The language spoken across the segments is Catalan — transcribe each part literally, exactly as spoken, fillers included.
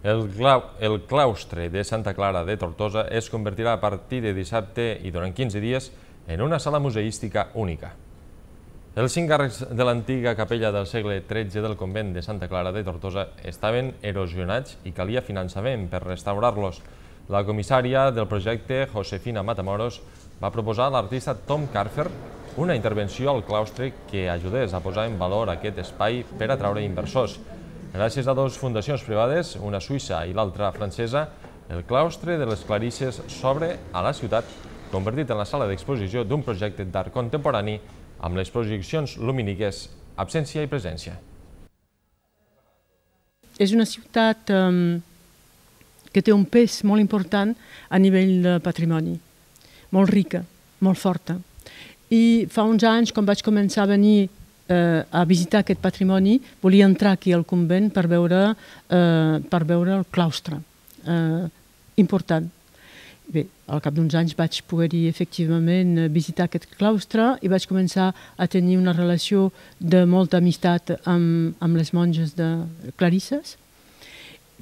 El, clau, el claustre de Santa Clara de Tortosa es convertirà a partir de dissabte i durant quinze dies en una sala museística única. Els cinc arcs de l'antiga capella del segle tretze del convent de Santa Clara de Tortosa estaven erosionats i calia finançament per restaurar-los. La comissària del projecte, Josefina Matamoros, va proposar a l'artista Tom Carfer una intervenció al claustre que ajudés a posar en valor aquest espai per atraure inversors. Gràcies a dues fundacions privades, una suïssa i l'altra francesa, el claustre de les Clarisses s'obre a la ciutat, convertit en la sala d'exposició d'un projecte d'art contemporani amb les projeccions lumíniques Absència i Presència. És una ciutat um, que té un pes molt important a nivell de patrimoni, molt rica, molt forta. I fa uns anys, quan vaig començar a venir eh, a visitar aquest patrimoni, volia entrar aquí al convent per veure, eh, per veure el claustre. Eh, important. Bé, al cap d'uns anys vaig poder-hi efectivament visitar aquest claustre i vaig començar a tenir una relació de molta amistat amb, amb les monges de Clarisses,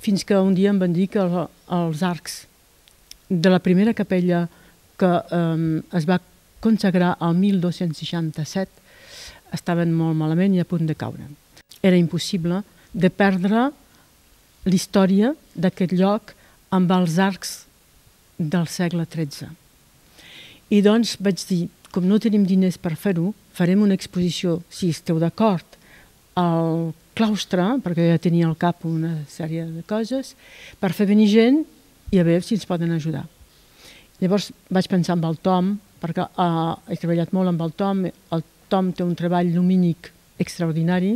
fins que un dia em van dir que el, els arcs de la primera capella que eh, es va consagrar al mil dos-cents seixanta-set estaven molt malament i a punt de caure. Era impossible de perdre l'història d'aquest lloc amb els arcs del segle tretze. I doncs vaig dir, com no tenim diners per fer-ho, farem una exposició, si esteu d'acord, al claustre, perquè ja tenia al cap una sèrie de coses, per fer venir gent i a veure si ens poden ajudar. Llavors vaig pensar en el Tom, perquè uh, he treballat molt amb el Tom, el Tom té un treball lumínic extraordinari,